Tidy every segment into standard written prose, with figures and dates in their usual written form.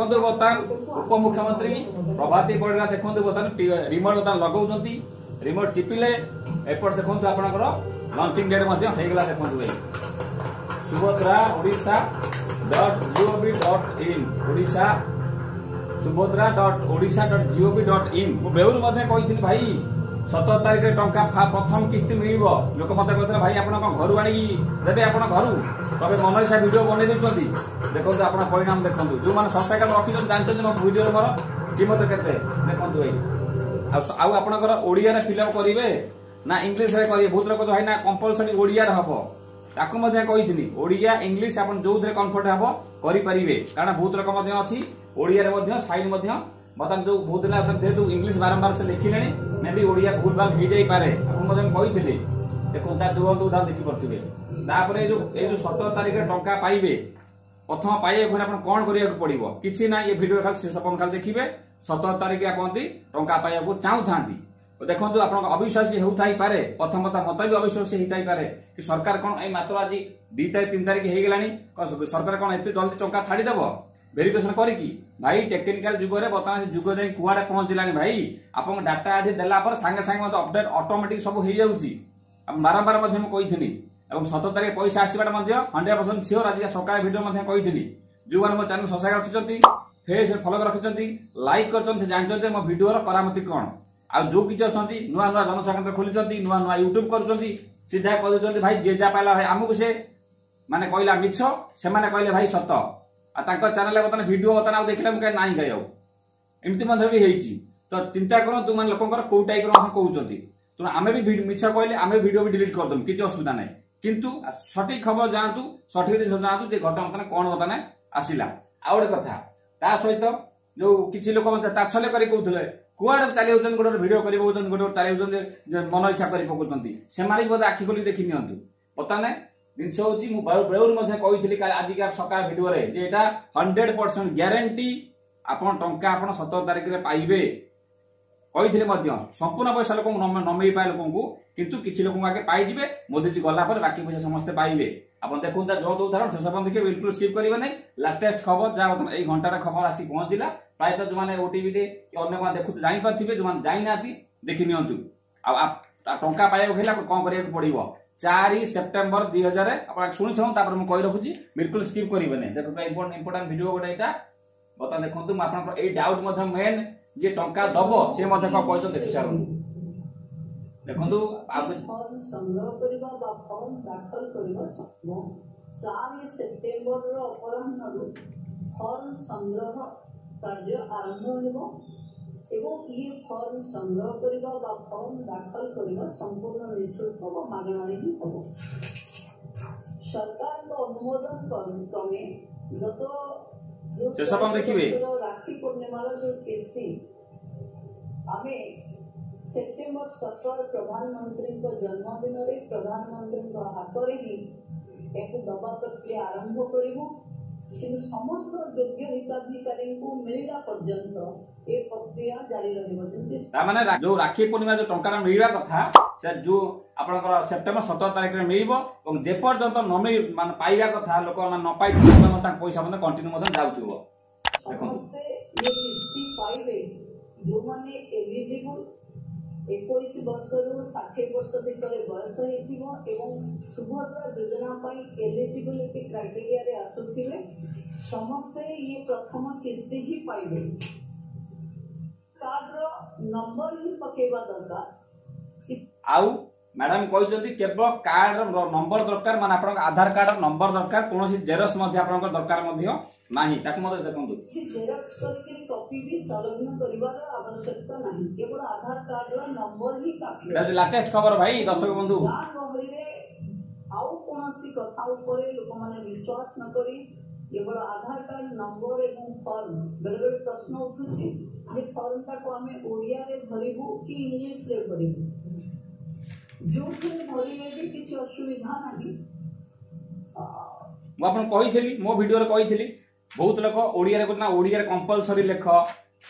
ଦେଖନ୍ତୁ, ବର୍ତ୍ତମାନ ଉପମୁଖ୍ୟମନ୍ତ୍ରୀ ପ୍ରଭାତୀ ପରିଡ଼ା ଦେଖନ୍ତୁ ବର୍ତ୍ତମାନ ରିମୋଟ ବର୍ତ୍ତମାନ ଲଗାଉଛନ୍ତି। ରିମୋଟ ଚିପିଲେ, ଏପଟ ଦେଖନ୍ତୁ ଆପଣଙ୍କର ଲଞ୍ଚିଂ ଡେଟ୍ ମଧ୍ୟ ହେଇଗଲା। ଦେଖନ୍ତୁ ଭାଇ, ସୁଭଦ୍ରା Odisha.gov.in, Odisha Subhadra.Odisha.gov.in। ମୁଁ ବେଉରୁ ମଧ୍ୟ କହିଥିଲି ଭାଇ, 17 ତାରିଖରେ ଟଙ୍କା ପ୍ରଥମ କିସ୍ତି ମିଳିବ। ଲୋକ ମତେ କହୁଥିଲେ, ଭାଇ ଆପଣ କଣ ଘରୁ ଆଣିକି ଦେବେ? ଆପଣ ଘରୁ ତମେ ମନ ଇଚ୍ଛା ଭିଡିଓ ବନେଇ ଦେଉଛନ୍ତି। ଦେଖନ୍ତୁ, ଆପଣ ପରିଣାମ ଦେଖନ୍ତୁ। ଯୋଉମାନେ ସବସ୍କ୍ରାଇବ ରଖିଛନ୍ତି ଜାଣିଛନ୍ତି ମୋ ଭିଡିଓର ମୋର କିମତ କେତେ। ଦେଖନ୍ତୁ ଭାଇ, ଆଉ ଆପଣଙ୍କର ଓଡ଼ିଆରେ ଫିଲ୍ଅପ୍ କରିବେ ନା ଇଂଲିଶରେ କରିବେ? ବହୁତ ଲୋକ ଭାଇ ନା କମ୍ପଲସରି ଓଡ଼ିଆରେ ହବ। ତାକୁ ମଧ୍ୟ କହିଥିଲି, ଓଡ଼ିଆ ଇଂଲିଶ ଆପଣ ଯୋଉଥିରେ କମ୍ଫର୍ଟ ହବ କରିପାରିବେ। କାରଣ ବହୁତ ଲୋକ ମଧ୍ୟ ଅଛି ଓଡ଼ିଆରେ ମଧ୍ୟ ସାଇନ୍ ମଧ୍ୟ ବର୍ତ୍ତମାନ ଯୋଉ ବହୁତ ହେଲା, ଯେହେତୁ ଇଂଲିଶ ବାରମ୍ବାର ସେ ଲେଖିଲେଣି, ମେ ବି ଓଡ଼ିଆ ଭୁଲ ଭାଲ ହେଇଯାଇପାରେ। ଆପଣ ମଧ୍ୟ କହିଥିଲି। ଦେଖନ୍ତୁ, ତା ଜ୍ୱଳନ୍ତ ଉଦାହରଣ ଦେଖିପାରୁଥିବେ। ତାପରେ ଏଇ ଯୋଉ 17 ତାରିଖରେ ଟଙ୍କା ପାଇବେ, ପ୍ରଥମ ପାଇବାକୁ ହେଲେ ଆପଣ କଣ କରିବାକୁ ପଡିବ? କିଛି ନାହିଁ, ଏ ଭିଡିଓ ଖାଲି ଶେଷ ପର୍ଯ୍ୟନ୍ତ ଖାଲି ଦେଖିବେ। 17 ତାରିଖ ଆପଣ ଯଦି ଟଙ୍କା ପାଇବାକୁ ଚାହୁଁଥାନ୍ତି, ଦେଖନ୍ତୁ, ଆପଣଙ୍କ ଅବିଶ୍ୱାସୀ ହେଉଥାଇପାରେ। ପ୍ରଥମତଃ ମତ ବି ଅବିଶ୍ୱାସୀ ହେଇଥାଇପାରେ କି ସରକାର କଣ ଏଇ ମାତ୍ର ଆଜି 2 ତାରିଖ 3 ତାରିଖ ହେଇଗଲାଣି, ସରକାର କଣ ଏତେ ଜଲ୍ଦି ଟଙ୍କା ଛାଡିଦେବ ଭେରିଫିକେସନ କରିକି? ଭାଇ, ଟେକ୍ନିକାଲ ଯୁଗରେ ବର୍ତ୍ତମାନ ସେ ଯୁଗ ଯାଇ କୁଆଡେ ପହଞ୍ଚିଲାଣି ଭାଇ। ଆପଣଙ୍କ ଡାଟା ଏଠି ଦେଲା ପରେ ସାଙ୍ଗେ ସାଙ୍ଗେ ମଧ୍ୟ ଅପଡେଟ ଅଟୋମେଟିକ ସବୁ ହେଇଯାଉଛି। ବାରମ୍ବାର ମଧ୍ୟ ମୁଁ କହିଥିଲି ଏବଂ 17 ତାରିଖ ପଇସା ଆସିବାଟା ମଧ୍ୟ 100% ସିଓର। ଆଜି ସକାଳେ ଭିଡିଓ ମଧ୍ୟ କହିଥିଲି। ଯୋଉମାନେ ମୋ ଚ୍ୟାନେଲ ସବସ୍କ୍ରାଇବ ରଖିଛନ୍ତି, ଫେସ୍ ଫଲୋ ରଖିଛନ୍ତି, ଲାଇକ୍ କରିଛନ୍ତି, ସେ ଜାଣିଛନ୍ତି ଯେ ମୋ ଭିଡିଓର କରାମତି କଣ। ଆଉ ଯୋଉ କିଛି ଅଛନ୍ତି ନୂଆ ନୂଆ ଜନସେବା ଖୋଲିଛନ୍ତି, ନୂଆ ନୂଆ ୟୁଟ୍ୟୁବ କରୁଛନ୍ତି, ସିଧା କହିଦଉଛନ୍ତି ଭାଇ, ଯିଏ ଯାହା ପାଇଲା ଭାଇ ଆମକୁ ସେ ମାନେ କହିଲା ମିଛ, ସେମାନେ କହିଲେ ଭାଇ ସତ। ଆଉ ତାଙ୍କ ଚ୍ୟାନେଲରେ ବର୍ତ୍ତମାନ ଭିଡିଓ ବର୍ତ୍ତମାନ ଆଉ ଦେଖିଲେ ମୁଁ କାହିଁ ନାହିଁ କାହିଁ। ଆଉ ଏମିତି ମଧ୍ୟ ବି ହେଇଛି। ତ ଚିନ୍ତା କରନ୍ତୁ, ମାନେ ଲୋକଙ୍କର କୋଉ ଟାଇପର ମଧ୍ୟ କହୁଛନ୍ତି। ତେଣୁ ଆମେ ବି ମିଛ କହିଲେ ଆମେ ଭିଡିଓ ବି ଡିଲିଟ୍ କରିଦେବୁ, କିଛି ଅସୁବିଧା ନାହିଁ। କିନ୍ତୁ ସଠିକ ଖବର ଯାଆନ୍ତୁ, ସଠିକ ଜିନିଷ ଯାଆନ୍ତୁ ଯେ ଘଟଣା ବର୍ତ୍ତମାନ କଣ ବର୍ତ୍ତମାନ ଆସିଲା। ଆଉ ଗୋଟେ କଥା, ତା ସହିତ ଯୋଉ କିଛି ଲୋକ ମଧ୍ୟ ତାଚ୍ଛଲ୍ୟ କରି କହୁଥିଲେ, କୁଆଡେ ଚାଲି ଯାଉଛନ୍ତି, ଗୋଟେ ଗୋଟେ ଭିଡିଓ କରି ପକଉଛନ୍ତି, ଗୋଟେ ଗୋଟେ ଚାଲି ଯାଉଛନ୍ତି, ମନ ଇଚ୍ଛା କରି ପକଉଛନ୍ତି, ସେମାନେ ବି ବୋଧେ ଆଖି ଖୋଲି ଦେଖି ନିଅନ୍ତୁ। ବର୍ତ୍ତମାନ ଜିନିଷ ହଉଛି, ମୁଁ ବେଳରୁ ମଧ୍ୟ କହିଥିଲି ଆଜିକା ସକାଳ ଭିଡିଓରେ ଯେ ଏଇଟା 100% ଗ୍ୟାରେଣ୍ଟି, ଆପଣ ଟଙ୍କା ଆପଣ 17 ତାରିଖରେ ପାଇବେ। କହିଥିଲେ ମଧ୍ୟ ସମ୍ପୂର୍ଣ୍ଣ ପଇସା ଲୋକଙ୍କୁ ନ ମିଳିପାରେ ଲୋକଙ୍କୁ, କିନ୍ତୁ କିଛି ଲୋକଙ୍କୁ ଆଗେ ପାଇଯିବେ। ମୋଦିଜୀ ଗଲା ପରେ ବାକି ପଇସା ସମସ୍ତେ ପାଇବେ। ଆପଣ ଦେଖନ୍ତୁ, ତା ଯୋଉ ଉଦାହରଣ ଶେଷ ପର୍ଯ୍ୟନ୍ତ ଦେଖିବେ, ବିଲକୁଲ ସ୍କିପ୍ କରିବେ ନାହିଁ। ଲାଟେଷ୍ଟ ଖବର ଯାହା ବର୍ତ୍ତମାନ ଏଇ ଘଣ୍ଟାର ଖବର ଆସି ପହଞ୍ଚିଲା। ପ୍ରାୟତଃ ଯୋଉମାନେ ଓଟିଭିରେ କି ଅନ୍ୟମାନେ ଦେଖୁ ଜାଣିପାରୁଥିବେ, ଯୋଉମାନେ ଜାଣିନାହାନ୍ତି ଦେଖି ନିଅନ୍ତୁ। ଆଉ ଟଙ୍କା ପାଇବାକୁ ହେଲେ ଆପଣ କଣ କରିବାକୁ ପଡିବ? 4 ସେପ୍ଟେମ୍ବର 2000, ଆପଣ ଶୁଣି ଶୁଣନ୍ତୁ, ତାପରେ ମୁଁ କହି ରଖୁଛି, ବିଲକୁଲ ସ୍କିପ୍ କରିବେନି। ଦେଖନ୍ତୁ, ଇମ୍ପୋର୍ଟାଣ୍ଟ ଭିଡିଓ ଗୋଟେ ଏଇଟା। ବର୍ତ୍ତମାନ ଦେଖନ୍ତୁ, ମୁଁ ଆପଣଙ୍କର ଏଇ ଡାଉଟ୍ ମଧ୍ୟ ମେନ୍ ଯିଏ ଟଙ୍କା ଦବ ସେ ମଧ୍ୟ କଣ କହିଛନ୍ତି ଦେଖି ସାରନ୍ତୁ। ଦେଖନ୍ତୁ। ଫର୍ମ ସଂଗ୍ରହ କରିବା ବା ଫର୍ମ ଦାଖଲ କରିବା ସମ୍ଭବ। 4 ସେପ୍ଟେମ୍ବରର ଅପରାହ୍ନରୁ ଫର୍ମ ସଂଗ୍ରହ କାର୍ଯ୍ୟ ଆରମ୍ଭ ହେବ ଏବଂ ଇଏ ଫର୍ମ ସଂଗ୍ରହ କରିବା ବା ଫର୍ମ ଦାଖଲ କରିବା ସମ୍ପୂର୍ଣ୍ଣ ନିଃଶୁଳ୍କ ବା ମାଗଣାରେ ହିଁ ହେବ। ସରକାରଙ୍କ ଅନୁମୋଦନ କ୍ରମେ ଗତ ଶେଷ ପର୍ଯ୍ୟନ୍ତ ଦେଖିବେ। ରାକ୍ଷୀ ପୂର୍ଣ୍ଣିମାର ଯୋଉ କିସ୍ତି ଆମେ ସେପ୍ଟେମ୍ବର 17 ପ୍ରଧାନମନ୍ତ୍ରୀଙ୍କ ଜନ୍ମଦିନରେ ପ୍ରଧାନମନ୍ତ୍ରୀଙ୍କ ହାତରେ ହିଁ ଏହାକୁ ଦବା ପ୍ରକ୍ରିୟା ଆରମ୍ଭ କରିବୁ। କିନ୍ତୁ ସମସ୍ତ ଯୋଗ୍ୟ ହିତାଧିକାରୀଙ୍କୁ ମିଳିଲା ପର୍ଯ୍ୟନ୍ତ ଏ ପ୍ରକ୍ରିୟା ଜାରି ରହିବ। ଯେମିତି ତାମାନେ ଯୋଉ ରାକ୍ଷୀ ପୂର୍ଣ୍ଣିମା ଯୋଉ ଟଙ୍କାଟା ମିଳିବା କଥା, ସେ ଯୋଉ ଆପଣଙ୍କର ସେପ୍ଟେମ୍ବର 17 ତାରିଖରେ ମିଳିବ ଏବଂ ଯେପର୍ଯ୍ୟନ୍ତ ନ ମିଳି ମାନେ ପାଇବା କଥା ଲୋକମାନେ ନ ପାଇଥିବେ, ତାଙ୍କ ପଇସା ମଧ୍ୟ କଣ୍ଟିନ୍ୟୁ ମଧ୍ୟ ଯାଉଥିବ। ସମସ୍ତେ ଏ କିସ୍ତି ପାଇବେ। ଯୋଉମାନେ ଏଲିଜିବୁଲ, 21 ବର୍ଷରୁ 60 ବର୍ଷ ଭିତରେ ବୟସ ହେଇଥିବ ଏବଂ ସୁଭଦ୍ରା ଯୋଜନା ପାଇଁ ଏଲିଜିବିଲିଟି କ୍ରାଇଟେରିଆରେ ଆସୁଥିବେ, ସମସ୍ତେ ଇଏ ପ୍ରଥମ କିସ୍ତି ହିଁ ପାଇବେ। କାର୍ଡର ନମ୍ବର ହିଁ ପକେଇବା ଦରକାର। ଆଉ ମ୍ୟାଡାମ କହିଛନ୍ତି କେବଳ କାର୍ଡର ନମ୍ବର ଦରକାର, ମାନେ ଆପଣଙ୍କ ଆଧାର କାର୍ଡର ନମ୍ବର ଦରକାର, କୌଣସି ଜେରକ୍ସ ମଧ୍ୟ ଆପଣଙ୍କର ଦରକାର ମଧ୍ୟ ନାହିଁ। ତାକୁ ମଧ୍ୟ ଦେଖନ୍ତୁ। କିଛି ଜେରକ୍ସ କରିକି କପି ବି ସଂଲଗ୍ନ କରିବାର ଆବଶ୍ୟକତା ନାହିଁ। କେବଳ ଆଧାର କାର୍ଡର ନମ୍ବର ହିଁ କାଫି। ଏଟା ହଉଛି ଲାଟେଷ୍ଟ ଖବର ଭାଇ, ଦର୍ଶକ ବନ୍ଧୁ। ଗାଁ ଗହଳିରେ ଆଉ କୌଣସି କଥା ଉପରେ ଲୋକମାନେ ବିଶ୍ୱାସ ନ କରି କେବଳ ଆଧାର କାର୍ଡ ନମ୍ବର ଏବଂ ଫର୍ମ। ବେଳେବେଳେ ପ୍ରଶ୍ନ ଉଠୁଛି ଯେ ଫର୍ମଟାକୁ ଆମେ ଓଡ଼ିଆରେ ଭରିବୁ କି ଇଂଲିଶରେ ଭରିବୁ? ଯୋଉଥିରେ ଭରିଲେ ବି କିଛି ଅସୁବିଧା ନାହିଁ। ମୁଁ ଆପଣଙ୍କୁ କହିଥିଲି, ମୋ ଭିଡିଓରେ କହିଥିଲି, ବହୁତ ଲୋକ ଓଡ଼ିଆରେ କହୁଛନ୍ତି ନା ଓଡ଼ିଆରେ କମ୍ପଲସରି ଲେଖ,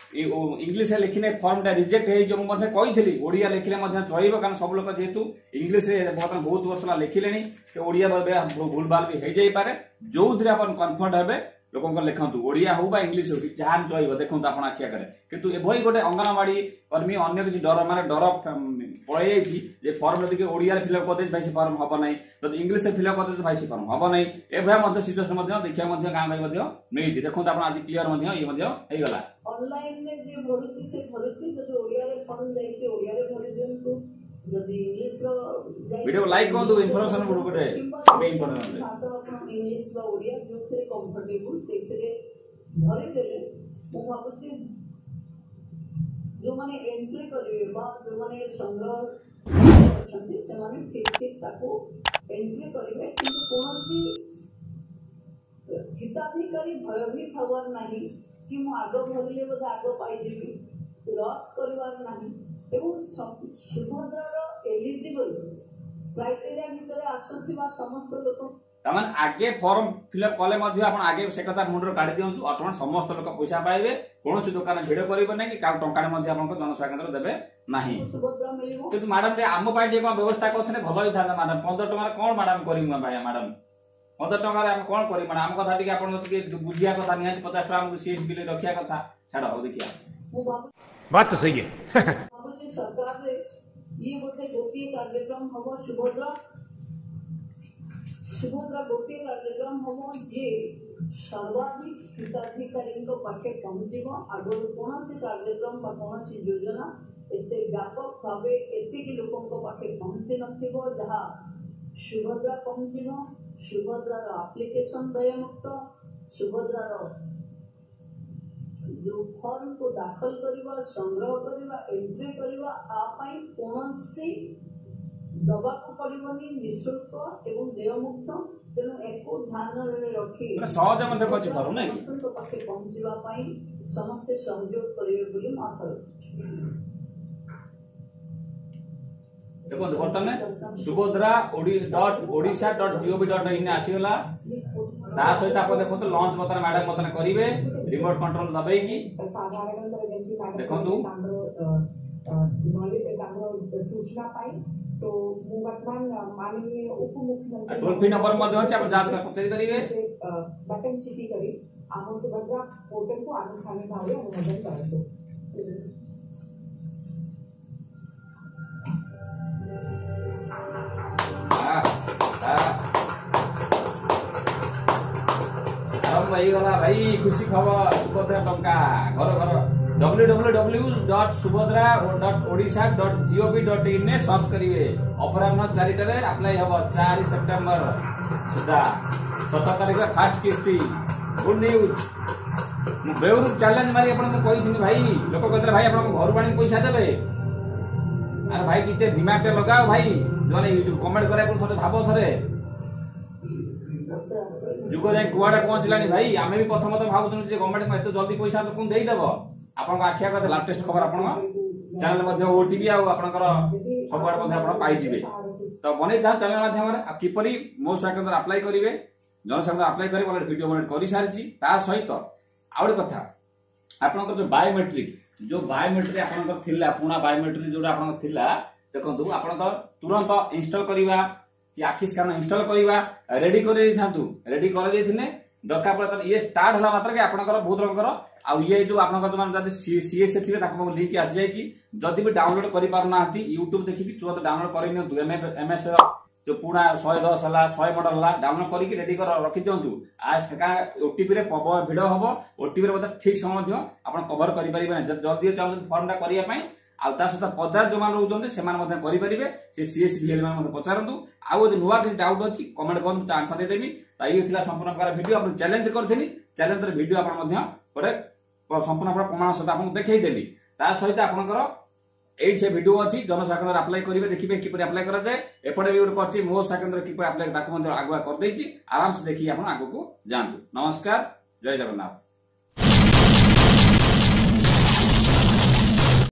ଇଂଲିଶରେ ଲେଖିଲେ ଫର୍ମଟା ରିଜେକ୍ଟ ହେଇଯିବ। ମୁଁ ମଧ୍ୟ କହିଥିଲି ଓଡ଼ିଆ ଲେଖିଲେ ମଧ୍ୟ ଚଳିବ, କାରଣ ସବୁ ଲୋକ ଯେହେତୁ ଇଂଲିଶରେ ବର୍ତ୍ତମାନ ବହୁତ ବର୍ଷ ହେଲା ଲେଖିଲେଣି, ଓଡ଼ିଆ ଭୁଲଭାଲ ବି ହେଇଯାଇପାରେ। ଯୋଉଥିରେ ଆପଣ କମ୍ଫର୍ଟ ହେବେ ଲୋକଙ୍କ ଲେଖନ୍ତୁ, ଓଡ଼ିଆ ହଉ ବା ଇଂଲିଶ ହଉ, ଯାହା ଚଳିବ, ଦେଖନ୍ତୁ ଆପଣ ଆଖି ଆଗରେ। କିନ୍ତୁ ଏଭଳି ଗୋଟେ ଅଙ୍ଗନବାଡି କର୍ମୀ ଅନ୍ୟ କିଛି ଡର, ମାନେ ଡର ପଳେଇ ଯାଇଛି ଯେ ଫର୍ମ ଯଦି ଓଡ଼ିଆରେ ଫିଲ୍ଅପ୍ କରିଦେଇଛି ଭାଇ ସେ ଫର୍ମ ହବ ନାହିଁ, ଯଦି ଇଂଲିଶରେ ଫିଲ୍ଅପ୍ କରିଦେଇଛି ଭାଇ ସେ ଫର୍ମ ହବ ନାହିଁ। ଏଭଳିଆ ମଧ୍ୟ ସିଚୁଏସନ ମଧ୍ୟ ଦେଖିବା ମଧ୍ୟ ଗାଁ ଗାଁ ମଧ୍ୟ ମିଳିଛି। ଦେଖନ୍ତୁ ଆପଣ ଆଜି କ୍ଲିୟର ମଧ୍ୟ ଇଏ ମଧ୍ୟ ହେଇଗଲା। ଅନଲାଇନରେ ଯିଏ ଭରୁଛି ସେ ଭରୁଛି, ଯଦି ଓଡ଼ିଆରେ ଫର୍ମ ଯାଇଛି ଓଡ଼ିଆରେ ଭରି ଦିଅନ୍ତୁ, ଯଦି ଇଂଲିଶର ଭିଡ଼ିଓ ଲାଇକ୍ କରନ୍ତୁ, ଇନଫର୍ମେସନ ଗୋଟେ ଭାଷା ଆପଣ ଇଂଲିଶ ବା ଓଡ଼ିଆ ଯୋଉଥିରେ କମ୍ଫର୍ଟେବୁଲ ସେଇଥିରେ ଭରିଦେଲେ ମୁଁ ଭାବୁଛି ଯୋଉମାନେ ଏଣ୍ଟ୍ରି କରିବେ ବା ଯୋଉମାନେ ସଂଗ୍ରହ ଅଛନ୍ତି ସେମାନେ ଠିକ ଠିକ ତାକୁ ଏଣ୍ଟ୍ରି କରିବେ। କିନ୍ତୁ କୌଣସି ହିତାଧିକାରୀ ଭୟଭୀତ ହବାର ନାହିଁ କି ମୁଁ ଆଗ ଭରିଲେ ବୋଧେ ଆଗ ପାଇଯିବି, ରସ୍ କରିବାର ନାହିଁ। ଏବଂ ସୁଭଦ୍ରାର ଏଲିଜିବଲ କ୍ରାଇଟେରିଆ ଭିତରେ ଆସୁଥିବା ସମସ୍ତ ଲୋକ, ତାମାନେ ଆଗେ ଫର୍ମ ଫିଲ୍ଅପ୍ କଲେ ମଧ୍ୟ ଆପଣ ଆଗେ ସେ କଥା ମୁଣ୍ଡରୁ କାଢି ଦିଅନ୍ତୁ, ଅଟୋମେଟିକ ସମସ୍ତ ଲୋକ ପଇସା ପାଇବେ। କୌଣସି ଦୋକାନ ଭିଡ କରିବେ ନାହିଁ କି କାହା ଟଙ୍କାଟେ ମଧ୍ୟ ଆପଣଙ୍କ ଜନସେବା କେନ୍ଦ୍ର ଦେବେ ନାହିଁ। ସୁଭଦ୍ରା ମିଳିବ। କିନ୍ତୁ ମ୍ୟାଡାମ ଟିକେ ଆମ ପାଇଁ ଟିକେ କଣ ବ୍ୟବସ୍ଥା କରିଥିଲେ ଭଲ ହେଇଥାନ୍ତା। ମ୍ୟାଡାମ 15 ଟଙ୍କାରେ କଣ ମ୍ୟାଡାମ କରିବୁ ଭାଇ? ମ୍ୟାଡାମ 15 ଟଙ୍କାରେ ଆମେ କଣ କରିବୁ? ମ୍ୟାଡାମ ଆମ କଥା ଟିକେ ଆପଣ ଟିକେ ବୁଝିବା କଥା, ନିହାତି 50 ଟଙ୍କା ଆମକୁ ସିଏସ୍ ବିଲ୍ ରଖିବା କଥା। ଛାଡ, ହଉ ଦେଖିବା। ମୁଁ बात तो सही है। ଭାବୁଛି ସରକାରରେ ଇଏ ବୋଧେ ଗୋଟିଏ କାର୍ଯ୍ୟକ୍ରମ ହବ, ସୁଭଦ୍ରା ସୁଭଦ୍ରା ଗୋଟିଏ କାର୍ଯ୍ୟକ୍ରମ ହବ ଯିଏ ସର୍ବାଧିକ ହିତାଧିକାରୀଙ୍କ ପାଖେ ପହଞ୍ଚିବ। ଆଗରୁ କୌଣସି କାର୍ଯ୍ୟକ୍ରମ ବା କୌଣସି ଯୋଜନା ଏତେ ବ୍ୟାପକ ଭାବେ ଏତିକି ଲୋକଙ୍କ ପାଖେ ପହଞ୍ଚି ନଥିବ ଯାହା ସୁଭଦ୍ରା ପହଞ୍ଚିବ। ସୁଭଦ୍ରାର ଆପ୍ଲିକେସନ ଦେୟମୁକ୍ତ, ସୁଭଦ୍ରାର ଯୋଉ ଫର୍ମକୁ ଦାଖଲ କରିବା, ସଂଗ୍ରହ କରିବା, ଏଣ୍ଟ୍ରି କରିବା ଆ ପାଇଁ କୌଣସି ଦବାକୁ ପଡିବନି, ନିଃଶୁଳ୍କ ଏବଂ ଦେୟମୁକ୍ତ। ତେଣୁ ଏକୁ ଧ୍ୟାନରେ ରଖି ସହଜ ମଧ୍ୟ କରିଛି ଫର୍ମ ନାଇଁ, ସମସ୍ତଙ୍କ ପାଖେ ପହଞ୍ଚିବା ପାଇଁ ସମସ୍ତେ ସହଯୋଗ କରିବେ ବୋଲି ମୁଁ ଆଶା ରଖୁଛି। ଦେଖନ୍ତୁ ବର୍ତ୍ତମାନ Subhadra dot Odisha dot GOV dot in ଆସିଗଲା। ତା ସହିତ ଆପଣ ଦେଖନ୍ତୁ ଲଞ୍ଚ ବର୍ତ୍ତମାନ ମ୍ୟାଡାମ ବର୍ତ୍ତମାନ କରିବେ, ରିମୋଟ କଣ୍ଟ୍ରୋଲ ଦବେଇକି ସାଧାରଣତଃ ଯେମିତି ଦେଖନ୍ତୁ। ତାଙ୍କର ସୂଚନା ପାଇଁ ତ ମୁଁ ବର୍ତ୍ତମାନ ମାନନୀୟ ଉପମୁଖ୍ୟମନ୍ତ୍ରୀ ଟୋଲ ଫ୍ରି ନମ୍ବର ମଧ୍ୟ ଅଛି, ଆପଣ ଯାହା ପଚାରି ପାରିବେ। ସେ ବଟନ ଚିପି କରି ଆମ ସୁଭଦ୍ରା ପୋର୍ଟାଲକୁ ଆନୁଷ୍ଠାନିକ ଭାବେ ଅନୁମୋଦନ କରନ୍ତୁ। ଆରମ୍ଭ ହେଇଗଲା ଭାଇ, ଖୁସି ଖବର, ସୁଭଦ୍ରା ଟଙ୍କା ଘର ଘର। www.subhadra.odisha.gov.in ରେ ସର୍ଚ୍ଚ କରିବେ। ଅପରାହ୍ନ 4ଟାରେ ଆପ୍ଲାଏ ହବ, 4 ସେପ୍ଟେମ୍ବର ସୁଦ୍ଧା 17 ତାରିଖରେ ଫାଷ୍ଟ କିସ୍ତି। Good news. ମୁଁ ବେଉରୁ ଚ୍ୟାଲେଞ୍ଜ ମାରି ଆପଣଙ୍କୁ କହିଥିଲି ଭାଇ, ଲୋକ କହିଥିଲେ ଭାଇ ଆପଣଙ୍କ ଘରୁ ଆଣିକି ପଇସା ଦେବେ। ଆରେ ଭାଇ ଟିକେ ଦିମାଗଟା ଲଗାଅ ଭାଇ, ଯୋଉମାନେ କମେଣ୍ଟ କରିବାକୁ ଥରେ ଭାବ, ଥରେ ଯୁଗ ଯାଇ କୁଆଡେ ପହଞ୍ଚିଲାଣି ଭାଇ। ଆମେ ବି ପ୍ରଥମତଃ ଭାବୁଥିଲୁ ଯେ ଗଭର୍ଣ୍ଣମେଣ୍ଟ ଏତେ ଜଲ୍ଦି ପଇସା ଲୋକଙ୍କୁ ଦେଇଦେବ। ଆପଣଙ୍କ ଆଖି ଆଗରେ ଲାଟେଷ୍ଟ ଖବର ଆପଣଙ୍କ ଚ୍ୟାନେଲ ମଧ୍ୟ ଓଟିଭି ଆଉ ଆପଣଙ୍କର ସବୁଆଡେ ମଧ୍ୟ ଆପଣ ପାଇଯିବେ। ତ ବନେଇଥାଉ ଚ୍ୟାନେଲ ମାଧ୍ୟମରେ ଆଉ କିପରି ମୋ ସେବା କେନ୍ଦ୍ର ଆପ୍ଲାଏ କରିବେ, ଜନସେବା କେନ୍ଦ୍ର ଆପ୍ଲାଏ କରିବେ, ଅଲରେଡି ଭିଡ଼ିଓ ବନେଇ କରିସାରିଛି। ତା ସହିତ ଆଉ ଗୋଟେ କଥା, ଆପଣଙ୍କର ଯୋଉ ବାୟୋମେଟ୍ରିକ, ଯୋଉ ବାୟୋମେଟ୍ରିକ ଆପଣଙ୍କର ଥିଲା, ପୁରୁଣା ବାୟୋମେଟ୍ରିକ ଯୋଉଟା ଆପଣଙ୍କର ଥିଲା, ଦେଖନ୍ତୁ ଆପଣଙ୍କ ତୁରନ୍ତ ଇନଷ୍ଟଲ କରିବା କି ଆଖି ସ୍କାନ ଇନଷ୍ଟଲ କରିବା ରେଡି କରିଦେଇଥାନ୍ତୁ। ରେଡି କରିଦେଇଥିଲେ ଦରକାର ପଡ଼ିଲେ ଇଏ ଷ୍ଟାର୍ଟ ହେଲା ମାତ୍ରକେ ଆପଣଙ୍କର ବହୁତ ଲୋକଙ୍କର ଆଉ ଇଏ ଯୋଉ ଆପଣଙ୍କର ଯୋଉମାନେ ଯଦି ସିଏସ୍ ଥିବେ ତାଙ୍କ ପାଖକୁ ଲିଙ୍କ ଆସିଯାଇଛି। ଯଦି ବି ଡାଉନଲୋଡ କରିପାରୁନାହାନ୍ତି, ୟୁଟ୍ୟୁବ ଦେଖିକି ତୁରନ୍ତ ଡାଉନଲୋଡ କରିନିଅନ୍ତୁ। ଏମଏସ୍ ଯୋଉ ପୁରୁଣା 110 ହେଲା, 100 ମଡେଲ ହେଲା, ଡାଉନଲୋଡ କରିକି ରେଡି କରି ରଖିଦିଅନ୍ତୁ। ଓଟିପି ରେ ପ୍ରବଳ ଭିଡ ହବ, ଓଟିପି ରେ ମଧ୍ୟ ଠିକ ସମୟ ମଧ୍ୟ ଆପଣ କଭର କରିପାରିବେ ନାହିଁ। ଯଦି ଜଲ୍ଦି ଚାହୁଁଛନ୍ତି ଫର୍ମଟା କରିବା ପାଇଁ, ଆଉ ତା ସହିତ ପଦାରେ ଯୋଉମାନେ ରହୁଛନ୍ତି ସେମାନେ ମଧ୍ୟ କରିପାରିବେ। ସେ ସିଏସ୍ ଭିଏଲ ମାନେ ମଧ୍ୟ ପଚାରନ୍ତୁ। ଆଉ ଯଦି ନୂଆ କିଛି ଡାଉଟ୍ ଅଛି କମେଣ୍ଟ କରନ୍ତୁ, ତା ଆନ୍ସର ଦେଇଦେବି। ତ ଇଏ ଥିଲା ସମ୍ପୂର୍ଣ୍ଣ ପ୍ରକାର ଭିଡିଓ। ଆପଣ ଚ୍ୟାଲେଞ୍ଜ କରିଥିଲି, ଚ୍ୟାଲେଞ୍ଜର ଭିଡିଓ ଆପଣ ମଧ୍ୟ ଗୋଟେ ସମ୍ପୂର୍ଣ୍ଣ ପ୍ରକାର ପ୍ରମାଣ ସହିତ ଆପଣଙ୍କୁ ଦେଖେଇଦେଲି। ତା ସହିତ ଆପଣଙ୍କର ଏଇଠି ସେ ଭିଡିଓ ଅଛି, ଜନସେବା କେନ୍ଦ୍ର ଆପ୍ଲାଏ କରିବେ, ଦେଖିବେ କିପରି ଆପ୍ଲାଏ କରାଯାଏ। ଏପଟେ ବି ଗୋଟେ କରିଛି ମୋ ସେବା କେନ୍ଦ୍ର କିପରି ଆପ୍ଲାଏ, ତାକୁ ମଧ୍ୟ ଆଗୁଆ କରିଦେଇଛି। ଆରାମସେ ଦେଖିକି ଆପଣ ଆଗକୁ ଯାଆନ୍ତୁ। ନମସ୍କାର, ଜୟ ଜଗନ୍ନାଥ।